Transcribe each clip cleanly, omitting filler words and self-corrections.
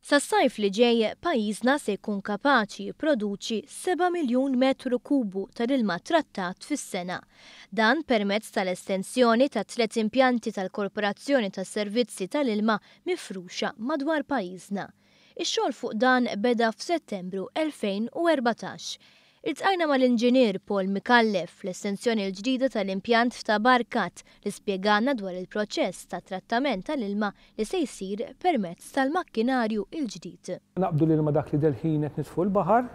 Sas-sajf li ġej, pajjiżna se jkun kapaċi jipproduċi 7 miljun metru kubu tal-ilma trattat fis-sena. Dan permezz tal-estensjoni ta' tliet impjanti tal-Korporazzjoni tas-Servizzi tal-Ilma mifruxa madwar pajjiżna. Ix-xogħol fuq dan beda f'Settembru 2014. Iltqajna mal-Inġinier Paul Micallef fl-estensjoni l-ġdida tal-impjant f'Ta' Barkat li spjegalna dwar il-proċess ta' trattament tal-ilma li se jsir permezz tal-makkinarju l-ġdid. Naqbdu l-ilma dak li delħin qed nitfu l-baħar,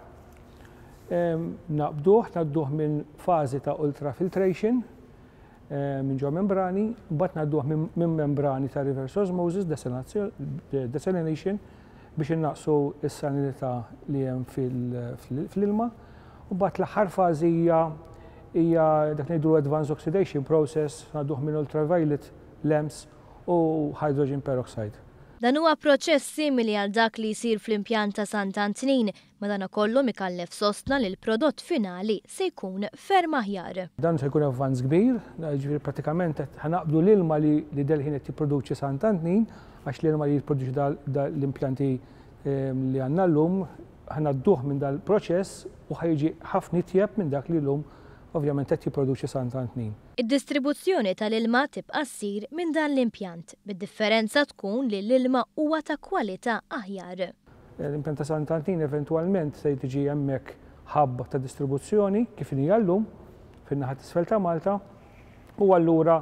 naqbduh, ngħadduh minn fażi ta' ultrafiltration minn ġo membrani, mbagħad ngħadduh minn membrani ta' reverse osmosis, desalination, biex innaqqsu s-salinità li hemm fl-ilma. U mbagħad l-aħħar fażi hija hija dak ngħidu advanced oxidation process, ngħadduh minn ultraviolet lamps u hydrogen peroxide. Dan huwa proċess simili għal dak li jsir fl-impjant ta' Sant'Antnin, madankollu Micallef sostna li l-prodott finali se jkun ferm aħjar. Dan se jkun avvanz kbir, ġifieri pratikament qed ħa naqbdu l-ilma li delħin qed jipproduċi Sant'Antnin, għax l-ilma li jipproduċi l-impjanti li għandna llum ħa ngħadduh minn dal-proċess u ħa jiġi ħafna itjeb minn dak li llum ovvjament qed jipproduċi Sant'Antnin. Id-distribuzzjoni tal-ilma tibqa' ssir minn dan l-impjant, bid-differenza tkun li l-ilma huwa ta' kwalità aħjar. L-impjant ta' Sant'Antnin eventwalment se tiġi hemmhekk hub ta' distribuzzjoni kif inhi llum fin-naħa t'isfel ta' Malta u allura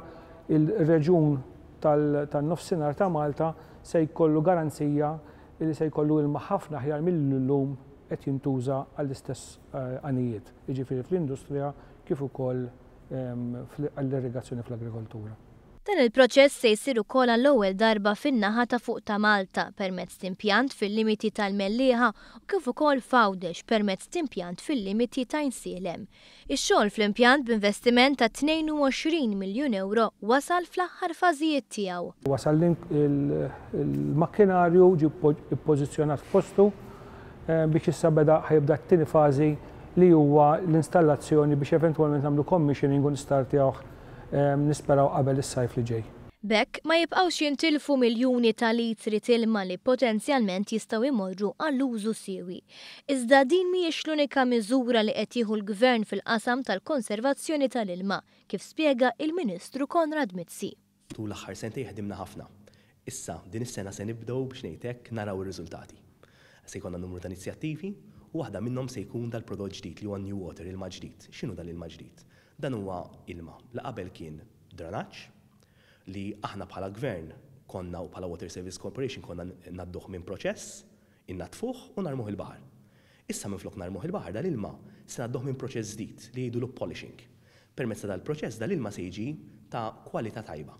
il-reġjun tan-nofsinhar ta' Malta se jkollu garanzija li se jkollu ilma ħafna aħjar mill-lum qed jintuża għall-istess għanijiet, jiġifieri fl-industrija kif ukoll għall-irrigazzjoni fl-agrikoltura. Dan il-proċess se jsir ukoll għall-ewwel darba fin-naħa ta' fuq ta' Malta permezz t'impjant fil-limiti tal-Mellieħa u kif ukoll f'Għawdex permezz t'impjant fil-limiti ta' Għajnsielem. Ix-xogħol fl-impjant b'investiment ta' 22 miljun euro wasal fl-aħħar fażijiet tiegħu. Wasal il-makkinarju ġie ppożizzjonat f'postu biex issa beda ħa jibda t-tieni fażi li huwa l-installazzjoni biex eventwalment nagħmlu commissioning u nistartjawh nisperaw qabel is-sajf li ġej. B'hekk ma jibqgħux jintilfu miljuni ta' litri t'ilma li potenzjalment jistgħu jmorru għall-użu siewi. Iżda din mhijiex l-unika miżura li qed jieħu l-Gvern fil-qasam tal-konservazzjoni tal-ilma, kif spjega il-Ministru Konrad Mizzi. Tul l-aħħar sentejn ħdimna ħafna. Issa, din is-sena se nibdew biex ngħid hekk naraw ir-riżultati. Se jkollna numru ta' inizjattivi u waħda minnhom se jkun dal-prodott ġdid li huwa New Water, ilma ġdid. X'inhu dal-ilma ġdid? Dan huwa ilma li qabel kien drenaġġ li aħna bħala gvern konna u bħala Water Service Corporation konna ngħadduh minn proċess, innadfuh u narmuh il-baħar. Issa minflok narmuh il-baħar dal-ilma se ngħadduh minn proċess ġdid li jgħidulu polishing. Permezz ta' dal-proċess dal-ilma se jiġi ta' kwalità tajba.